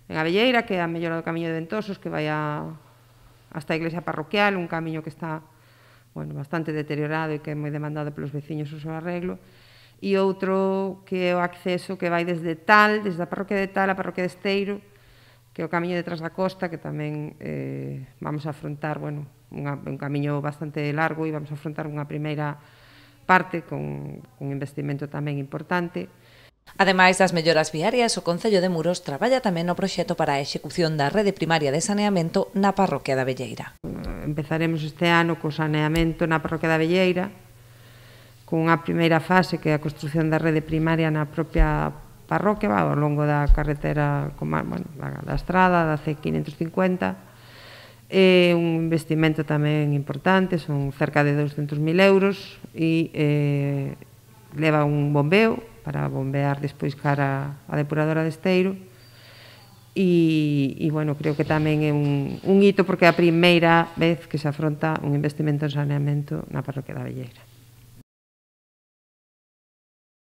en Abelleira, que é a mellora do Camiño de Ventosos, que vai hasta a iglesia parroquial, un camiño que está bastante deteriorado e que é moi demandado pelos veciños o seu arreglo, e outro que é o acceso que vai desde a parroquia de Tal a parroquia de Esteiro, que é o camiño detrás da costa, que tamén vamos a afrontar un camiño bastante largo e vamos a afrontar unha primeira parte con un investimento tamén importante. Ademais das melloras viarias, o Concello de Muros traballa tamén no proxecto para a execución da rede primaria de saneamento na parroquia da Abelleira. Empezaremos este ano co saneamento na parroquia da Abelleira, con unha primeira fase que é a construción da rede primaria na propia parroquia, ao longo da carretera, da estrada, da C550. É un investimento tamén importante, son cerca de 200.000 euros e leva un bombeo para bombear despois cara a depuradora de Esteiro e creo que tamén é un hito porque é a primeira vez que se afronta un investimento en saneamento na parroquia da Abelleira.